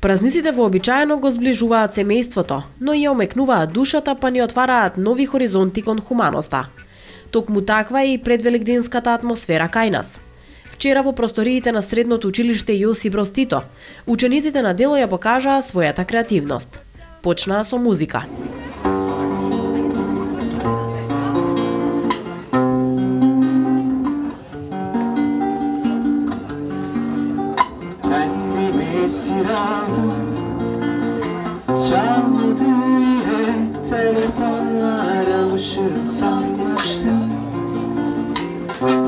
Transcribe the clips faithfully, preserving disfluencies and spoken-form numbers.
Празниците вообичаено го зближуваат семејството, но и ја омекнуваат душата, па ни отвараат нови хоризонти кон хуманоста. Токму таква е и предвеликденската атмосфера кај нас. Вчера во просториите на средното училиште Јосип Броз Тито, учениците на дело ја покажаа својата креативност. Почнаа со музика. Çalmadı yine telefonlar, alışırım sanmıştım.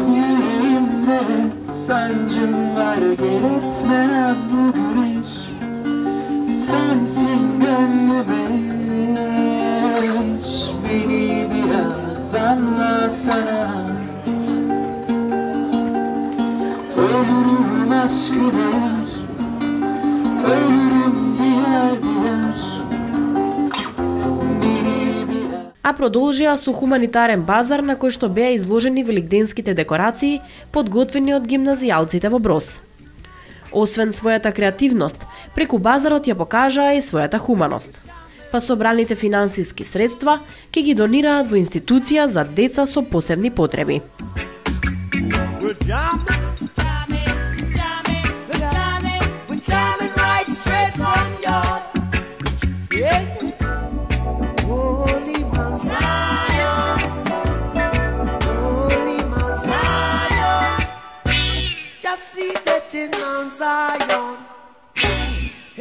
Yüreğimde sancım var, gelitme nazlı güneş. Sensin gönlüme, beni biraz anlasana. Ölürüm aşkı der, ölürüm diğer diğer. А продолжија со хуманитарен базар на кој што беа изложени великденските декорации подготвени од гимназијалците во Броз. Освен својата креативност, преку базарот ја покажаа и својата хуманост. Па собраните финансиски средства ќе ги донираат во институција за деца со посебни потреби. In Mount Zion,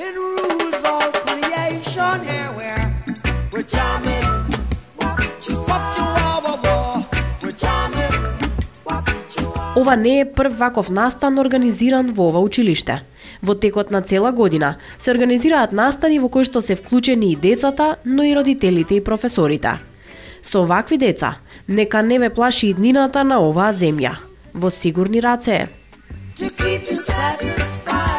it rules all creation. Yeah, we're we're jamming. What you are, we're jamming. Ова не е прв ваков настан организиран во ова училиште. Во текот на цела година се организираат настани во кои што се вклучени и децата, но и родителите и професорите. Со вакви деца, нека не ве плаши иднината на оваа земја. Во сигурни раце е. To keep you satisfied.